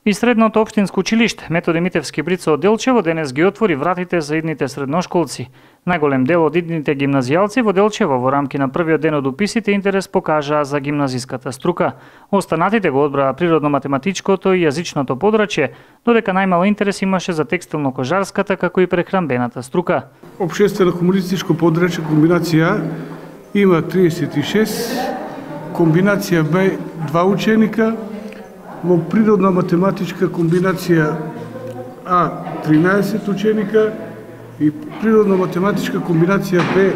И средното општинско училиште Методи Митевски Брица од Делчево денес ги отвори вратите за идните средношколци. Најголем дел од идните гимназијалци во Делчево во рамки на првиот ден од уписите интерес покажаа за гимназиската струка. Останатите го одбраа природно-математичкото и јазичното подрачје, додека најмало интерес имаше за текстилно-кожарската како и прехранбената струка. Општествено-комунистичко подрачје комбинација има 36, комбинација Б 2 ученика, во природно-математичка комбинација А 13 ученика и природно-математичка комбинација Б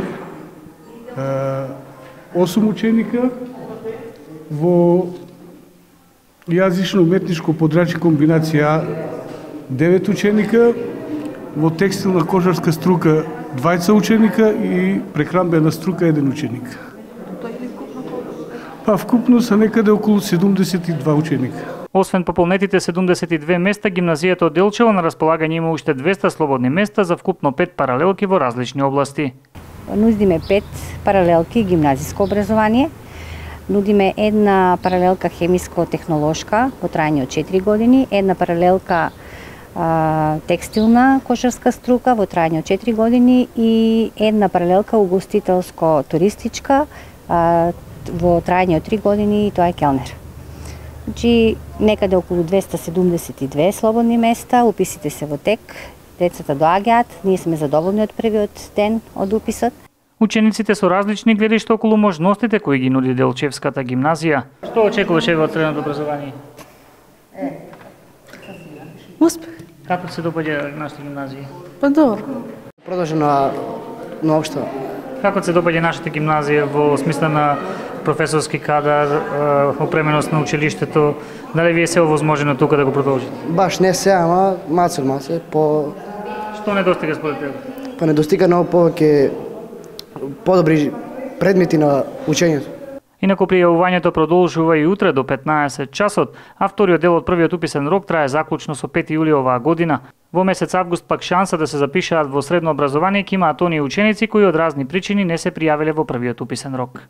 8 ученика, во јазично-уметничко подрачје комбинација А 9 ученика, во текстилна кожарска струка 20 ученика и прехранбена струка 1 ученик. Па вкупно се некаде околу 72 ученика. Освен пополнетите 72 места, гимназијата од Делчево на располагање има уште 200 слободни места за вкупно 5 паралелки во различни области. Нудиме 5 паралелки гимназиско образование, нудиме една паралелка хемиско-технолошка во трајање од 4 години, една паралелка текстилна кожарска струка во трајање од 4 години и една паралелка угостителско-туристичка во трајање од 3 години и тоа е келнер. Значи, некаде околу 272 слободни места, уписите се во тек, децата доаѓаат, ние сме задоволни од првиот ден од уписот. Учениците со различни гледишта околу можностите кои ги нуди Делчевската гимназија. Што очекуваше во средното образование? Успех. Како се допаѓа нашата гимназија? Па добро. Продолжи на општо. Како се допаѓа нашата гимназија во смисла на професорски кадар, опременост на училиштето? Дали ви е се овозможено тука да го продолжите? Баш не се, ама маце, по... Што недостига според тебе? Па недостига многу повеќе подобри предмети на учењето. Инаку пријавувањето продолжува и утре до 15 часот, а вториот дел од првиот уписен рок трае заклучно со 5 јули оваа година. Во месец август пак шанса да се запишаат во средно образование ќе имаат оние ученици кои од разни причини не се пријавиле во првиот уписен рок.